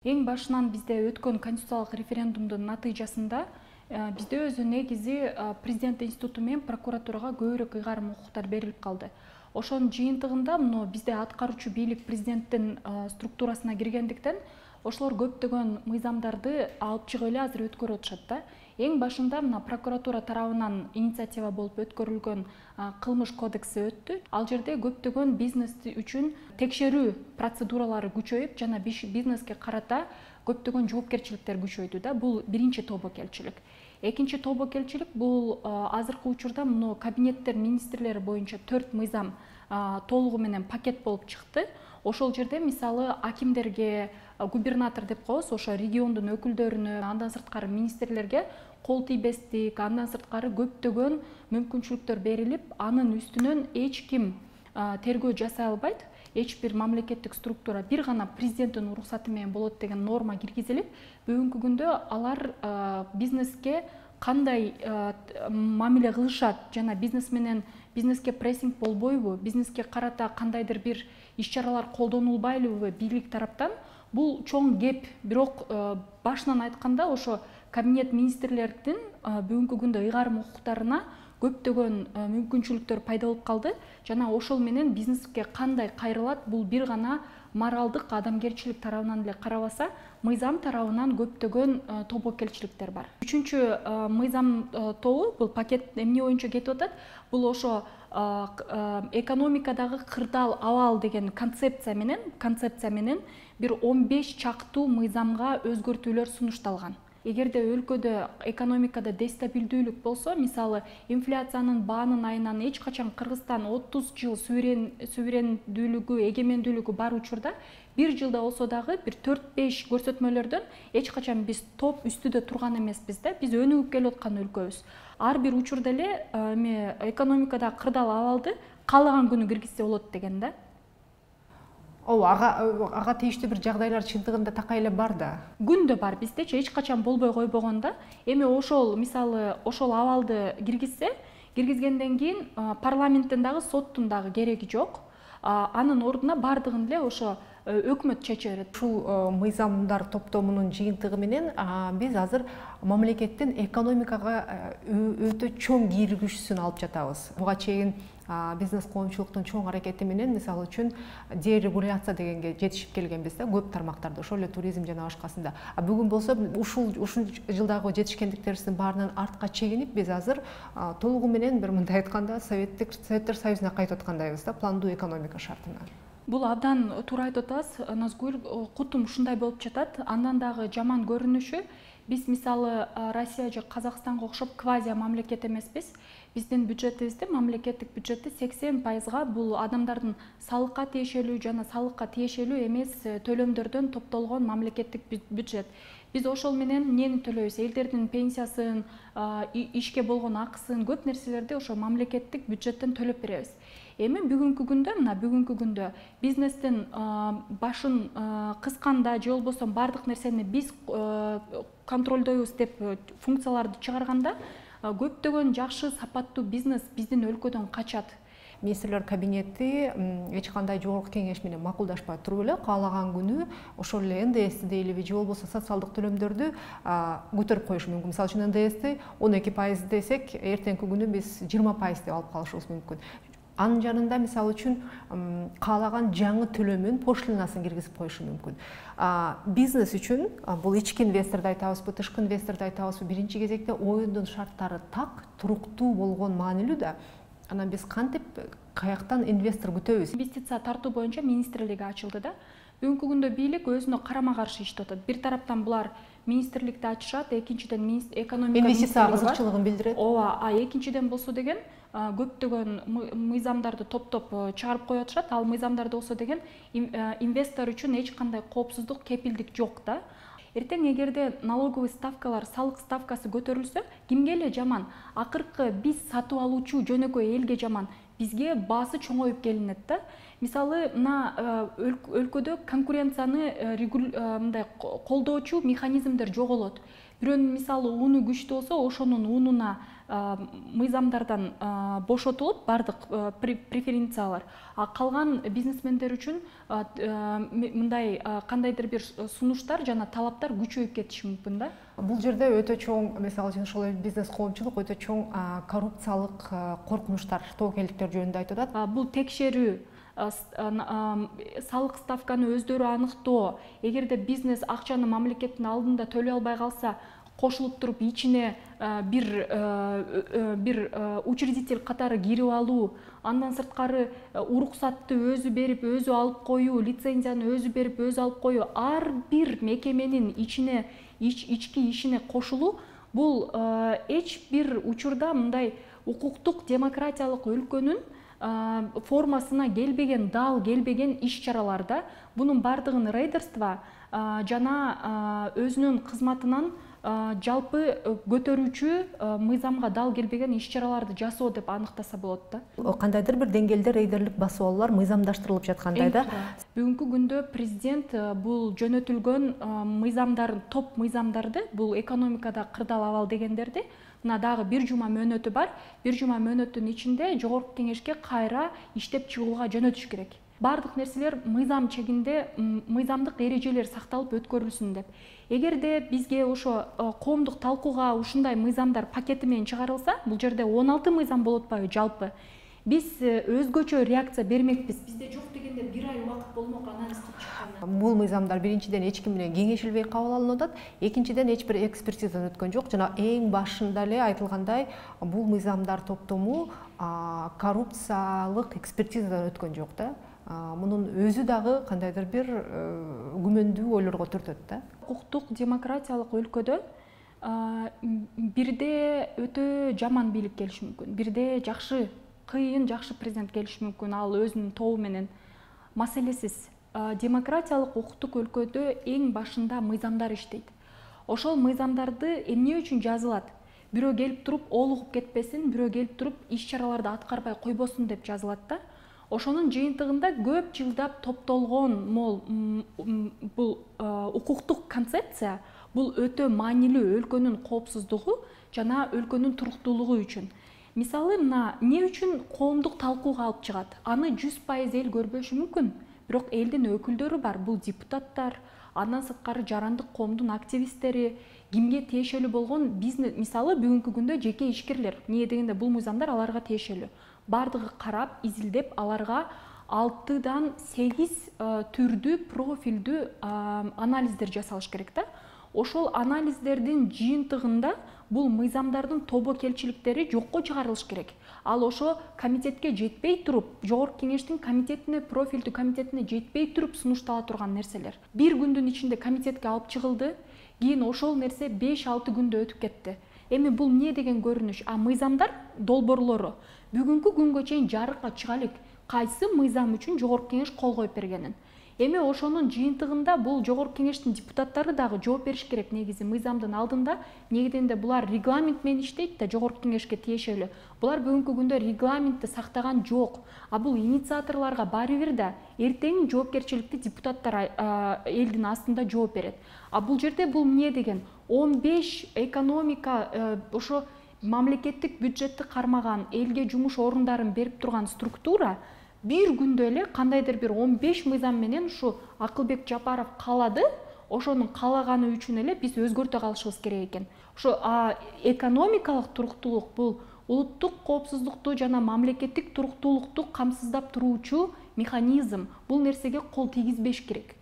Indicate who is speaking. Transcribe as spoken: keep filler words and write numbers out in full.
Speaker 1: Эң башынан бизде өткөн конституциялык референдумдун натыйжасында бизде өзү негизи президент институту менен прокуратурага көбүрөөк ыйгарым укуктар берилип калды. Ошонун жыйынтыгында мына бизде аткаруучу бийлик президенттин структурасына киргендиктен ошолор көптөгөн мыйзамдарды алып чыгып эле азыр өткөрүп атышат да. Эң башында мына прокуратура тарабынан инициатива болуп өткөрүлгөн кылмыш кодекси өттү. Ал жерде көптөгөн бизнес үчүн текшерүү процедуралары күчөйүп, жана бизнеске карата көптөгөн жоопкерчиликтер күчөйдү да. Бул биринчи тобокелчилик. Экинчи тобокелчилик бул азыркы учурда мына кабинеттер министрлери боюнча төрт мыйзам толугу менен пакет болуп чыкты. Ошол жерде мисалы акимдерге, губернатор деп коебуз, ошо региондун өкүлдөрүнө, андан сырткары министрлерге кол тийбестик, андан сырткары көптөгөн мүмкүнчүлүктөр берилип, анын үстүнөн эч ким тергөө жасай албайт. Эч бир мамлекеттик структура бир гана президенттин уруксаты менен болот деген норма киргизилип, бүгүнкү күндө алар бизнеске кандай мамиле кылышат жана бизнес менен бизнеске прессинг болбойбу, бизнеске карата кандайдыр бир иш-чаралар колдонулбайлыбы бийлик тараптан, бул чоң кеп. Бирок башынан айтканда ошо кабинет министрлердин бүгүнкү күндө ыйгарым укуктарына көптөгөн мүмкүнчүлүктөр пайда болуп калды. Жана ошол менен бизнеске кандай кайрылат, бул бир гана моралдык, адамгерчилик тарабынан эле карабаса, мыйзам тарабынан көптөгөн тобокелчиликтер бар. Үчүнчү мыйзам тобу, бул пакет эмне боюнча кетип атат? Бул ошо экономикадагы кырдаал абал деген концепция менен, концепция менен бир он беш чактуу мыйзамга өзгөртүүлөр сунушталган. Эгерде өлкөдө экономикада дестабилдүүлүк болсо, мисалы инфляциянын баанын айынан эч качан Кыргызстан отуз жыл суверендүүлүгү, эгемендүүлүгү бар учурда бир жылда болсо дагы бир төрт беш көрсөтмөлөрдөн эч качан биз топ үстүдө турган эмеспиз да. Биз өнүгүп келе аткан өлкөбүз. Ар бир учурда эле эме экономикадагы кырдаал абалды каалаган күнү киргизсе болот деген да.
Speaker 2: Ооба, ага ага тийиштүү бир жагдайлар чындыгында такай эле бар да.
Speaker 1: Күндө бар, биздечи эч качан болбой койбогон да. Эми ошол мисалы ошол абалды киргизсе, киргизгенден кийин парламенттин дагы соттун дагы кереги жок. Анын ордуна бардыгын эле ошо өкмөт чече берет.
Speaker 2: Ушул мыйзамдар топтомунун жыйынтыгы менен биз азыр мамлекеттин экономикага өтө чоң киргизүүсүн алып жатабыз. Буга чейин бизнес коомчулуктун чоң аракети менен, мисалы үчүн, дерегуляция дегенге жетишип келгенбиз да, көп тармактарда, ошол эле туризм жана башкасында. А бүгүн болсо ушул ушул жылдагы жетишкендиктерибиздин баарынан артка чегинип, биз азыр толугу менен бир мындай айтканда Советтик Советтер Союзуна кайтып аткандайбыз да, пландуу экономика шартына.
Speaker 1: Бул абдан туура айтып атасыз, Назгүл. Кутум ушундай болуп жатат. Андан дагы жаман көрүнүшү, биз мисалы Россия же Казакстанга окшоп квази мамлекет эмеспиз. Биздин бюджетибизде, мамлекеттик бюджетти сексен пайызга бул адамдардын салыкка тиешелүү жана салыкка тиешелүү эмес төлөмдөрдөн топтолгон мамлекеттик бюджет. Биз ошол менен эмнени төлөйбүз? Элдердин пенсиясын, ишке болгон акысын, көп нерселерди ошо мамлекеттик бюджеттен төлөп беребиз. Эми бүгүнкү күндө, мына бүгүнкү күндө бизнестин башын кысканда же болбосо бардык нерсени биз контролдойбуз деп функцияларды чыгарганда, көптөгөн жакшы сапаттуу бизнес биздин өлкөдөн качат.
Speaker 2: Министрлер кабинети эч кандай жогорку кеңеш менен макулдашпай туруп эле каалаган күнү ошол эле эн дэ эсти дейлиби же болбосо социалдык төлөмдөрдү көтөрүп коюшу мүмкүн. Мисалы үчүн эн дэ эсти он эки пайыз десек, эртеңки күнү биз жыйырма пайыз деп алып калышыбыз мүмкүн. Анын жанында мисалы үчүн каалаган жаңы төлөмүн, пошлинасын киргизип коюшу мүмкүн. Бизнес үчүн бул ички инвесторду айтабызбы, тышкы инвесторду айтабызбы, биринчи кезекте оюндун шарттары так, туруктуу болгон маанилүү да. Анан биз кантип, каяктан инвестор күтөбүз?
Speaker 1: Инвестиция тартуу боюнча министрлиги ачылды да. Бүгүнкү күндө бийлик өзүнө карама-каршы иштеп атат. Бир тараптан булар министрликти ачышат, экинчиден экономика
Speaker 2: инвестиция кызыкчылыгын билдирет.
Speaker 1: Ооба, а экинчиден болсо деген көптөгөн мыйзамдарды топтоп чыгарып коюп атышат. Ал мыйзамдарда болсо деген инвестор үчүн эч кандай коопсуздук, кепилдик жок да. Эртең эгерде налоговый ставкалар, салык ставкасы көтөрүлсө, кимге эле жаман? Акыркы биз сатып алуучу жөнөкөй элге жаман. Бизге баасы чоңоюп келинет да. Мисалы, мына өлкөдө конкуренцияны мындай колдоочу механизмдер жоголот. бирөөнүн мисалы уну күчтүү болсо ошонун унуна мыйзамдардан бошотулуп баардык преференциялар, а калган бизнесмендер үчүн мындай кандайдыр бир сунуштар жана талаптар күчөйүп кетиши мүмкүн да.
Speaker 2: Бул жерде өтө чоң, мисалы үчүн ошол бизнес коомчулук өтө чоң коррупциялык коркунучтар, тобокелдиктер жөнүндө айтып атат.
Speaker 1: Бул текшерүү, салык ставканы өздөрү аныктоо, эгерде бизнес акчаны мамлекеттин алдында төлөй албай калса, кошулуп туруп ичине бир бир учредитель катары кирип алуу, андан сырткары уруксатты өзү берип, өзү алып коюу, лицензияны өзү берип, өзү алып коюу, ар бир мекеменин ичине ички ишине кошулуу, бул эч бир учурда мындай укуктук демократиялык өлкөнүн формасына келбеген, дал келбеген иш-чаралар да. Бунун бардыгын рейдерство жана өзүнүн кызматынан жалпы көтөрүүчү мыйзамга дал келбеген иш-чараларды жасоо деп аныктаса болот да.
Speaker 2: Кандайдыр бир деңгээлде рейдерлик басуулар мыйзамдаштырылып жаткандай да.
Speaker 1: Бүгүнкү күндө президент бул жөнөтүлгөн мыйзамдардын, топ мыйзамдарды, бул экономикада кырдаал абал дегендерди, мына дагы бир жума мөөнөтү бар. Бир жума мөөнөттүн ичинде жогорку кеңешке кайра иштеп чыгууга жөнөтүш керек. Бардык нерселер мыйзам чегинде, мыйзамдык эрежелер сакталып өткөрүлсүн деп. Эгерде бизге ошо коомдук талкууга ушундай мыйзамдар пакети менен чыгарылса, бул жерде он алты мыйзам болот атпайбы жалпы? Биз өзгөчө реакция бермекпиз. Бизде жок дегенде бир ай убакыт болмок анализ кылып чыкканына.
Speaker 2: Бул мыйзамдар биринчиден эч ким менен кеңешилбей кабыл алынып атат, экинчиден эч бир экспертизадан өткөн жок. Жана эң башында эле айтылгандай, бул мыйзамдар топтому коррупциялык экспертизадан өткөн жок да. Мунун өзү дагы кандайдыр бир күмөндүү ойлорго түртөт да.
Speaker 1: Укуктук демократиялык өлкөдө бирде өтө жаман бийлик келиши мүмкүн, бирде жакшы, кыйын жакшы президент келиши мүмкүн, ал өзүнүн тобу менен. Маселесиз, демократиялык укуктук өлкөдө эң башында мыйзамдар иштейт. Ошол мыйзамдарды эмне үчүн жазылат? Бирөө келип туруп олугуп кетпесин, бирөө келип туруп иш-чараларды аткарбай койбосун деп жазылат да. Ошонун жыйынтыгында көп жылдап топтолгон мол бул укуктук концепция, бул өтө маанилүү өлкөнүн коопсуздугу жана өлкөнүн туруктуулугу үчүн. Мисалы, мына эмне үчүн коомдук талкууга алып чыгат? Аны жүз пайыз эл көрбөшү мүмкүн, бирок элдин өкүлдөрү бар, бул депутаттар, андан сырткары жарандык коомдун активисттери, кимге тиешелүү болгон бизнес, мисалы бүгүнкү күндө жеке ишкерлер, эмне дегенде бул мыйзамдар аларга тиешелүү. Бардыгы карап, изилдеп, аларга алтыдан сегиз түрдүү профилдүү анализдер жасалыш керек да. Ошол анализдердин жыйынтыгында бул мыйзамдардын тобокелчиликтери жокко чыгарылыш керек. Ал ошо комитетке жетпей туруп, жогорку кеңештин комитетине, профилдүү комитетине жетпей туруп сунуштала турган нерселер. Бир күндүн ичинде комитетке алып чыгылды, кийин ошол нерсе беш алты күндө өтүп кетти. Эми бул эмне деген көрүнүш? А мыйзамдар долбоорлору бүгүнкү күнгө чейин жарыкка чыга элек, кайсы мыйзам үчүн жогорку кеңеш кол коюп бергенин. Эми ошонун жыйынтыгында бул жогорку кеңештин депутаттары дагы жооп бериш керек негизи мыйзамдын алдында. Негеденде булар регламент менен иштейт да, жогорку кеңешке тиешелүү. Булар бүгүнкү күндө регламентти сактаган жок. А бул инициаторлорго баары бир да, эртең жоопкерчиликти депутаттар элдин астында жооп берет. А бул жерде бул эмне деген? он беш экономика ошо мамлекеттик бюджетти кармаган, элге жумуш орундарын берип турган структура бир күндө эле кандайдыр бир он беш мыйзам менен ушу Акылбек Жапаров каалады, ошонун каалаганы үчүн эле биз өзгөртө калышыбыз керек экен. Ошо экономикалык туруктуулук бул улуттук коопсуздукту жана мамлекеттик туруктуулукту камсыздап туруучу механизм. Бул нерсеге кол тийгизбеш керек.